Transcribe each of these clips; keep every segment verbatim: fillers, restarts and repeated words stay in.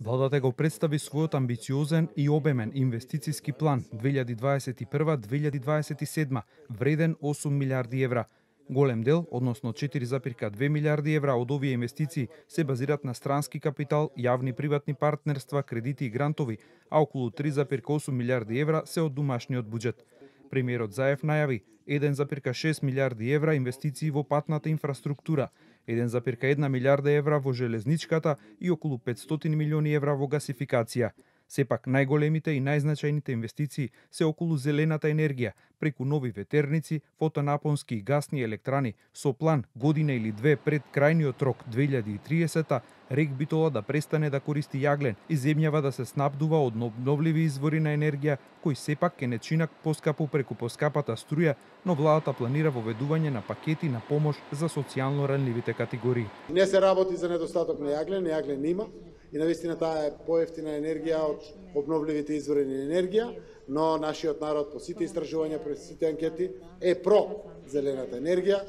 Владата го представи својот амбициозен и обемен инвестициски план две илјади дваесет и прва до две илјади дваесет и седма, вреден осум милиарди евра. Голем дел, односно четири запирка две милиарди евра од овие инвестиции се базираат на странски капитал, јавни приватни партнерства, кредити и грантови, а околу три запирка осум милиарди евра се од домашниот буџет. Премиерот Заев најави еден запирка шест милиарди евра инвестиции во патната инфраструктура, еден запирка една милиарда евра во железничката и околу петстотини милиони евра во гасификација. Сепак најголемите и најзначајните инвестиции се околу зелената енергија, преку нови ветерници, фотонапонски и гасни електрани, со план година или две пред крајниот рок две илјади и триесета, Рек Битола да престане да користи јаглен и земјава да се снабдува од обновливи извори на енергија, кои сепак ќе не чинак поскапо преку поскапата струја, но владата планира воведување на пакети на помош за социјално ранливите категории. Не се работи за недостаток на јаглен, јаглен има и навистина таа е поевтина енергија од обновливите извори на енергија, но нашиот народ по сите истражувања, по сите анкети е про зелената енергија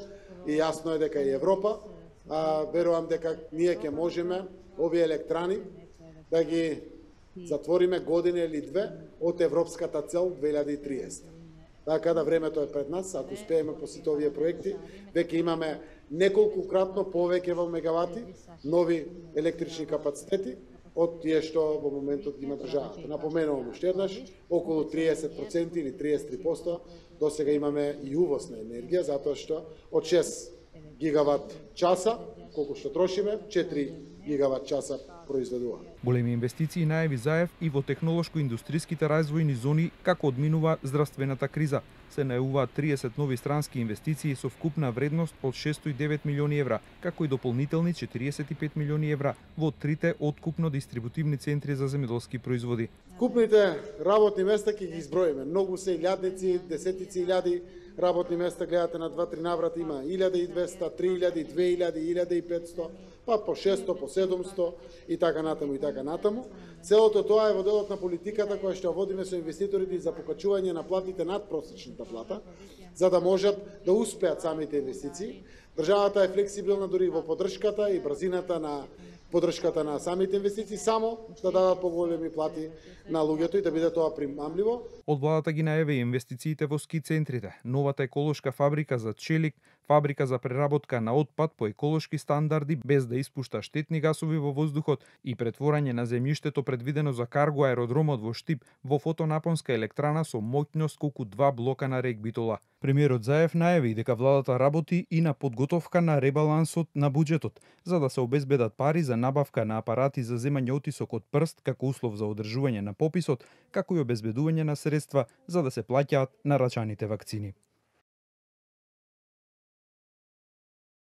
и јасно е дека и Европа, а верувам дека ние ќе можеме овие електрани да ги затвориме година или две од европската цел две илјади и триесета. Така да времето е пред нас, ако успееме по сите овие проекти, веќе имаме неколкукратно повеќе во мегавати нови електрични капацитети од тие што во моментот ги има државата. Напоменувам уште еднаш, околу триесет проценти или триесет и три проценти до сега имаме и увоз на енергија, затоа што од шест гигават часа, колку што трошиме, четири гигават часа произведува. Големи инвестиции најави Заев и во технолошко-индустријските развојни зони како одминува здравствената криза. Се најавуваат триесет нови странски инвестиции со вкупна вредност од шестстотини и девет милиони евра, како и дополнителни четириесет и пет милиони евра во трите откупно дистрибутивни центри за земјоделски производи. Вкупните работни места ќе ги изброиме. Многу се илјадници, десетици илјади работни места, гледате на два-три наврата има илјада и двесте, три илјади, две илјади, илјада и петсто, па по шестсто, по седумсто и така натаму и така натаму. Целото тоа е во делот на политиката која што водиме со инвеститорите за покачување на платите над просечната плата, за да можат да успеат самите инвестиции. Државата е флексибилна дури во поддршката и брзината на поддршката на самите инвестиции, само да дадат поголеми плати на луѓето и да биде тоа примамливо. Од владата ги најави инвестициите во ски центрите, новата еколошка фабрика за челик, фабрика за преработка на отпад по еколошки стандарди без да испушта штетни гасови во воздухот и претворање на земјиштето предвидено за карго аеродромот во Штип во фотонапонска електрана со моќност колку два блока на Рек Битола. Премиерот Заев најави дека владата работи и на подготовка на ребалансот на буџетот, за да се обезбедат пари за набавка на апарати за земање отисок од прст како услов за одржување на пописот, како и обезбедување на средства за да се плаќаат нарачаните вакцини.